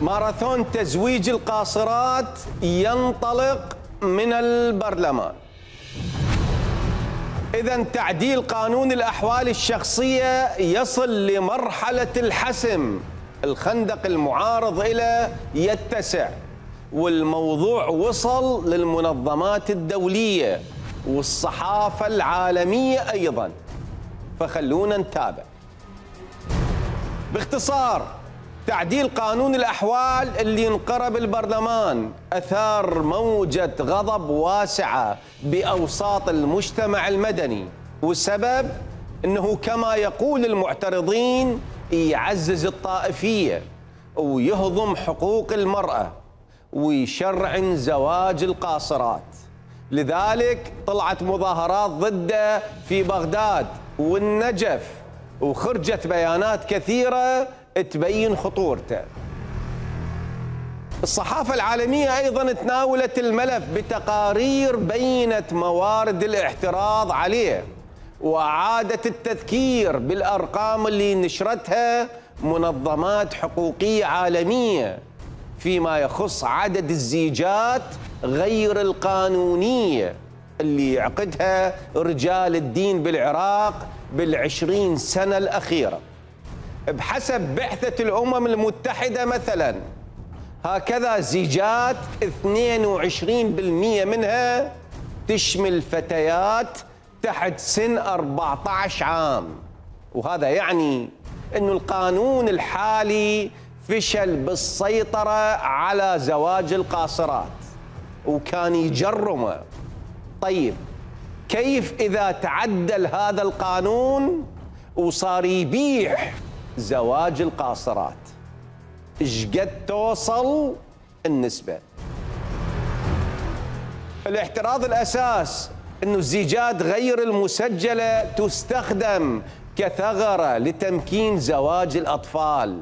ماراثون تزويج القاصرات ينطلق من البرلمان. إذا تعديل قانون الأحوال الشخصية يصل لمرحلة الحسم، الخندق المعارض إلى يتسع، والموضوع وصل للمنظمات الدولية والصحافة العالمية أيضا. فخلونا نتابع. باختصار، تعديل قانون الأحوال اللي انقرب البرلمان أثار موجة غضب واسعة بأوساط المجتمع المدني، والسبب أنه كما يقول المعترضين يعزز الطائفية ويهضم حقوق المرأة ويشرعن زواج القاصرات. لذلك طلعت مظاهرات ضده في بغداد والنجف، وخرجت بيانات كثيرة تبين خطورته. الصحافة العالمية أيضا تناولت الملف بتقارير بينت موارد الاعتراض عليه، وأعادت التذكير بالأرقام اللي نشرتها منظمات حقوقية عالمية فيما يخص عدد الزيجات غير القانونية اللي يعقدها رجال الدين بالعراق بالعشرين سنة الأخيرة. بحسب بعثة الأمم المتحدة مثلا، هكذا زيجات 22% منها تشمل فتيات تحت سن 14 عام، وهذا يعني أن القانون الحالي فشل بالسيطرة على زواج القاصرات وكان يجرمه. طيب كيف إذا تعدل هذا القانون وصار يبيح زواج القاصرات؟ إيش قد توصل النسبة؟ الاعتراض الأساس أنه الزيجات غير المسجلة تستخدم كثغرة لتمكين زواج الأطفال،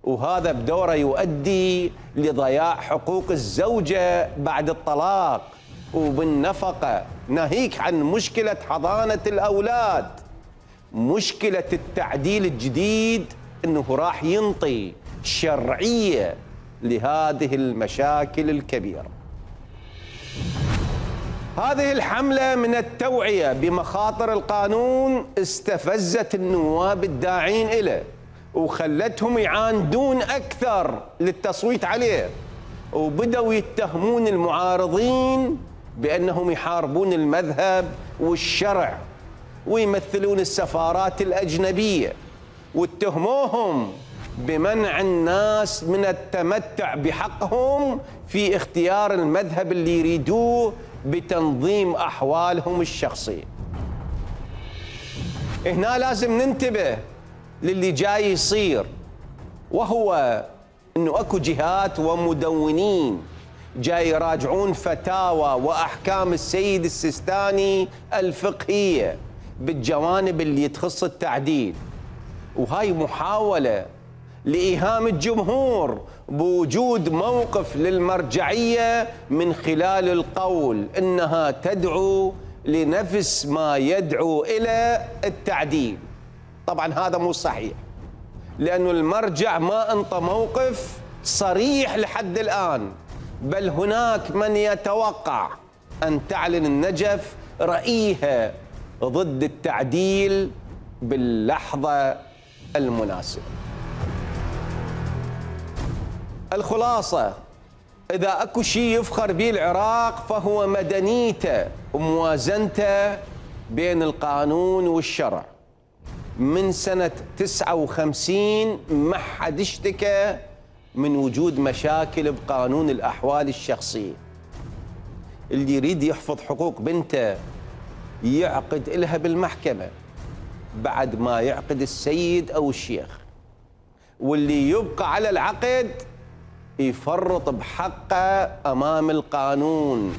وهذا بدوره يؤدي لضياع حقوق الزوجة بعد الطلاق وبالنفقة، ناهيك عن مشكلة حضانة الأولاد. مشكلة التعديل الجديد أنه راح ينطي شرعية لهذه المشاكل الكبيرة. هذه الحملة من التوعية بمخاطر القانون استفزت النواب الداعين إليه وخلتهم يعاندون أكثر للتصويت عليه، وبدأوا يتهمون المعارضين بأنهم يحاربون المذهب والشرع ويمثلون السفارات الأجنبية، واتهموهم بمنع الناس من التمتع بحقهم في اختيار المذهب اللي يريدوه بتنظيم أحوالهم الشخصية. هنا لازم ننتبه للي جاي يصير، وهو أنه أكو جهات ومدونين جاي يراجعون فتاوى وأحكام السيد السيستاني الفقهية بالجوانب اللي تخص التعديل، وهاي محاولة لإيهام الجمهور بوجود موقف للمرجعية من خلال القول إنها تدعو لنفس ما يدعو إلى التعديل. طبعا هذا مو صحيح، لأن المرجع ما انطى موقف صريح لحد الآن، بل هناك من يتوقع أن تعلن النجف رأيها ضد التعديل باللحظة المناسبة. الخلاصة، إذا أكو شيء يفخر به العراق فهو مدنيته وموازنته بين القانون والشرع. من سنة 59 ما حد اشتكى من وجود مشاكل بقانون الأحوال الشخصية. اللي يريد يحفظ حقوق بنته يعقد إلها بالمحكمة بعد ما يعقد السيد أو الشيخ، واللي يبقى على العقد يفرط بحقه أمام القانون.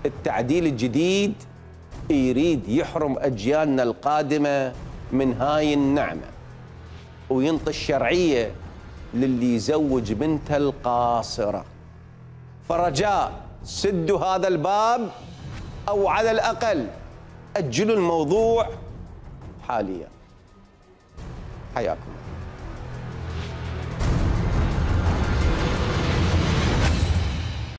التعديل الجديد يريد يحرم أجيالنا القادمة من هاي النعمة وينطي الشرعية للي يزوج بنته القاصرة. فرجاء سدوا هذا الباب، أو على الأقل أجلوا الموضوع حاليا. حياكم.